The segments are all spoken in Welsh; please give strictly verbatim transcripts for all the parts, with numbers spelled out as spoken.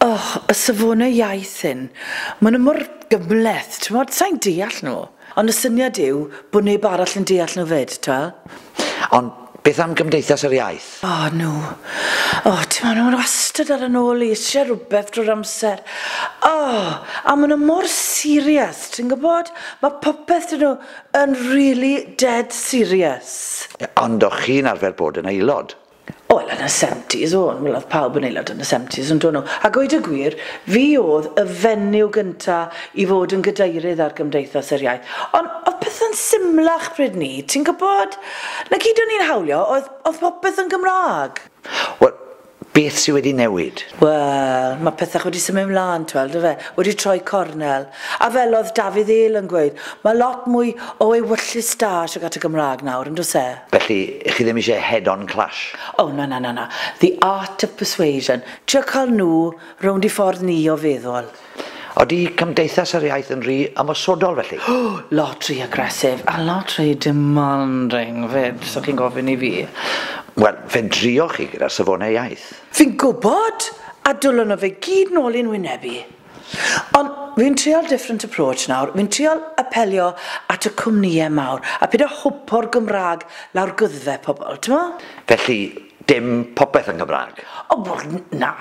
Oh, y safonau iaith hyn, maen nhw mor gymhleth, ti'n gwbod, sai'n deall nhw. Ond y syniad yw bod neb arall yn deall nhw fyd, ti'n Ond beth am Gymdeithas yr Iaith? O, oh, nhw. O, oh, ti'n meddwl, nhw'n wastad ar yn ôl i, eisiau rhywbeth drwy'r amser. O, oh, a maen nhw mor serious, ti'n gwybod? Mae popeth dyn nhw yn really dead serious. Ond o'ch chi'n arfer bod yn aelod? Wel, yn y seventies, o'n. Wel, oedd pawb yn aelod yn y seventies, yn dod nhw. A gweud y gwir, fi oedd y fenyw gynta i fod yn gadeirydd ar Gymdeithas yr Iaith. Ond oedd pethau'n symlach pryd ni, ti'n gwybod? Na gyd o'n i'n hawlio, oedd, oedd popeth yn Gymraeg. Wel, beth sydd wedi newid? Wel, mae pethau wedi symud ymlaen, twel, dy fe? Wedi troi cornel. A fel oedd Dafydd Hale yn gweud, mae lot mwy o ewyllys da tuag at y Gymraeg nawr, yn does e? Felly, chi ddim eisiau head-on clash? Oh, na, na, na, na. The art of persuasion. Trio cael nhw rownd i ffordd ni o feddwl. Oeddi Cymdeithas yr Iaith yn rhy ymosodol felly? Lot rhy aggressive a lot rhy demanding fyd, so chi'n gofyn i fi. Wel, fe drioch chi gyda'r safonau iaith. Fi'n gwybod, a dwlon nhw fe gyd nôl i'n wynebu. Ond fi'n trial different approach nawr. Fi'n trial apelio at y cwmnïau mawr a peidio hwpo'r Gymraeg lawr gwddfe pobl, ti'n mo? Felly, dim popeth yn Gymraeg? O, wel, na.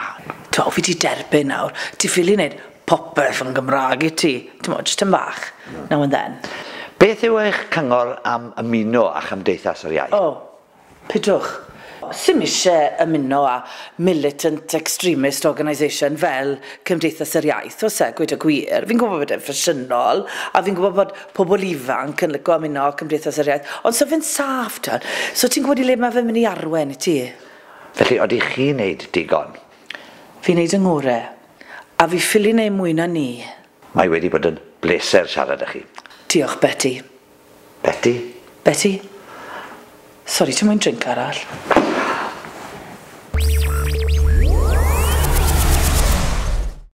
Ti'n fi di derbyn nawr. Ti ffili wneud popeth yn Gymraeg i ti. Ti'n mo, jyst yn bach, now and then. Beth yw eich cyngor am ymuno â Chymdeithas yr Iaith? O, pidwch. Sim eisiau ymuno â militant extremist organisation fel Cymdeithas yr Iaith, oes e, gweud y gwir. Fi'n gwybod bod e'n ffasiynol, a fi'n gwybod bod pobl ifanc yn licio ymuno â Cymdeithas yr Iaith, ond so fe'n saff, ti'n. So ti'n gwybod i le mae fe'n mynd i arwen i ti? Felly, oeddi chi'n neud digon? Fi'n neud yng ngore, a fi ffili neud mwy na ni. Mae wedi bod yn bleser siarad â chi. Diolch, Betty. Betty? Betty? Sori, ti'n moyn drink arall?